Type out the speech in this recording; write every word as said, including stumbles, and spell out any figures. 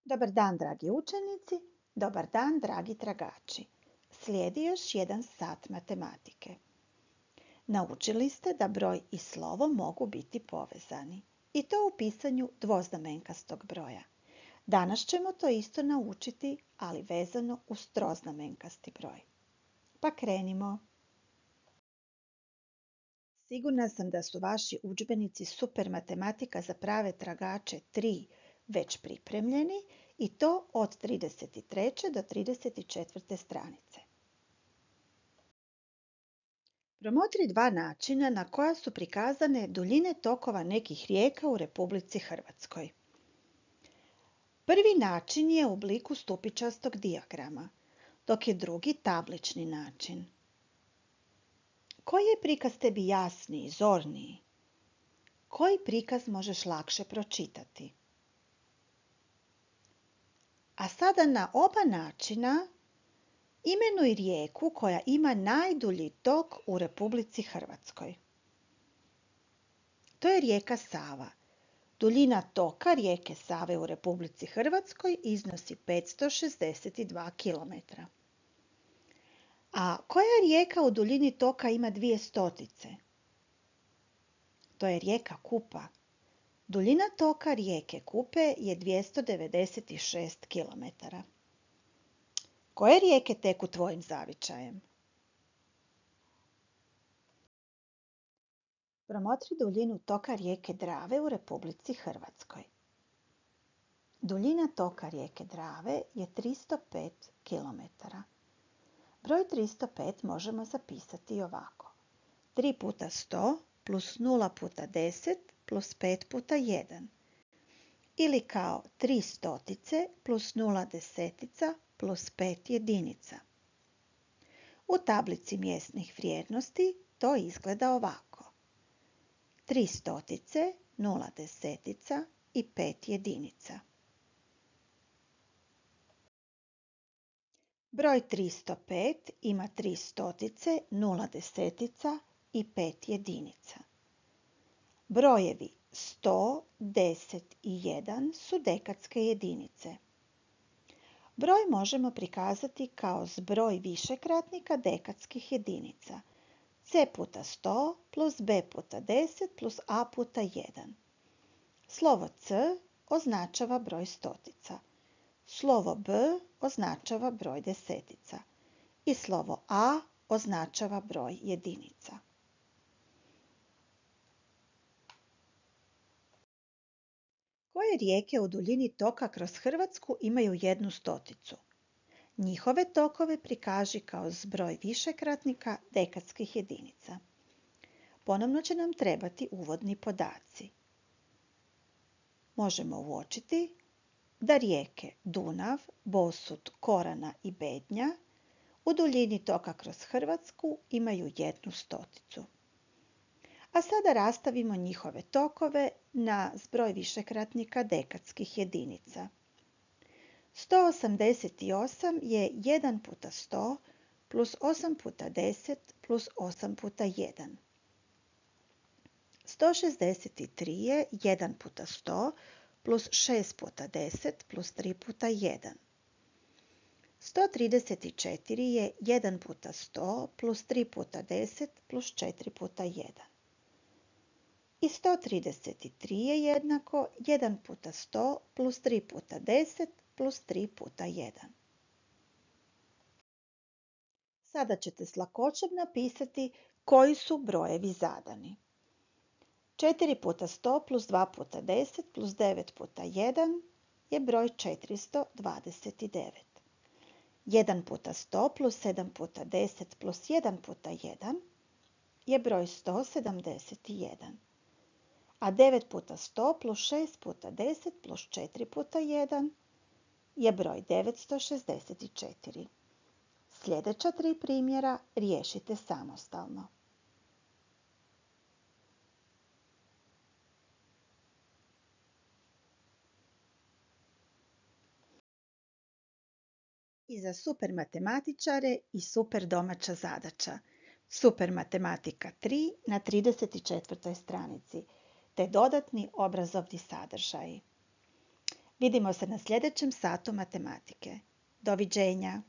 Dobar dan, dragi učenici, dobar dan, dragi tragači. Slijedi još jedan sat matematike. Naučili ste da broj i slovo mogu biti povezani, i to u pisanju dvoznamenkastog broja. Danas ćemo to isto naučiti, ali vezano uz troznamenkasti broj. Pa krenimo. Sigurna sam da su vaši udžbenici Super matematika za prave tragače tri već pripremljeni i to od trideset treće do trideset četvrte stranice. Promotri dva načina na koja su prikazane duljine tokova nekih rijeka u Republici Hrvatskoj. Prvi način je u obliku stupičastog dijagrama, dok je drugi tablični način. Koji je prikaz tebi jasniji, zorniji? Koji prikaz možeš lakše pročitati? A sada na oba načina imenuj rijeku koja ima najdulji tok u Republici Hrvatskoj. To je rijeka Sava. Duljina toka rijeke Save u Republici Hrvatskoj iznosi petsto šezdeset dva kilometra. A koja rijeka u duljini toka ima dvije stotice? To je rijeka Kupa. Duljina toka rijeke Kupe je dvjesto devedeset šest kilometara. Koje rijeke teku tvojim zavičajem? Promotri duljinu toka rijeke Drave u Republici Hrvatskoj. Duljina toka rijeke Drave je tristo pet kilometara. Broj tristo pet možemo zapisati ovako. tri puta sto plus nula puta deset plus pet puta jedan. Ili kao tri stotice plus nula desetica plus pet jedinica. U tablici mjesnih vrijednosti to izgleda ovako. tri stotice, nula desetica i pet jedinica. Broj tristo pet ima tri stotice, nula desetica i pet jedinica. Brojevi sto, deset i jedan su dekadske jedinice. Broj možemo prikazati kao zbroj višekratnika dekadskih jedinica. C puta sto plus B puta deset plus A puta jedan. Slovo C označava broj stotica. Slovo B označava broj desetica. I slovo A označava broj jedinica. Koje rijeke u duljini toka kroz Hrvatsku imaju jednu stoticu? Njihove tokove prikaži kao zbroj višekratnika dekadskih jedinica. Ponovno će nam trebati uvodni podaci. Možemo uočiti da rijeke Dunav, Bosut, Korana i Bednja u duljini toka kroz Hrvatsku imaju jednu stoticu. A sada rastavimo njihove tokove na zbroj višekratnika dekadskih jedinica. sto osamdeset osam je jedan puta sto plus osam puta deset plus osam puta jedan. sto šezdeset tri je jedan puta sto plus šest puta deset plus tri puta jedan. sto trideset četiri je jedan puta sto plus tri puta deset plus četiri puta jedan. I sto trideset tri je jednako jedan puta sto plus tri puta deset plus tri puta jedan. Sada ćete s lakoćom napisati koji su brojevi zadani. četiri puta sto plus dva puta deset plus devet puta jedan je broj četiristo dvadeset devet. jedan puta sto plus sedam puta deset plus jedan puta jedan je broj sto sedamdeset jedan. A devet puta sto plus šest puta deset plus četiri puta jedan je broj devetsto šezdeset četiri. Sljedeća tri primjera riješite samostalno. I za super matematičare i super domaća zadaća. Super matematika tri na trideset četvrtoj stranici, te dodatni obrazovni sadržaji. Vidimo se na sljedećem satu matematike. Doviđenja!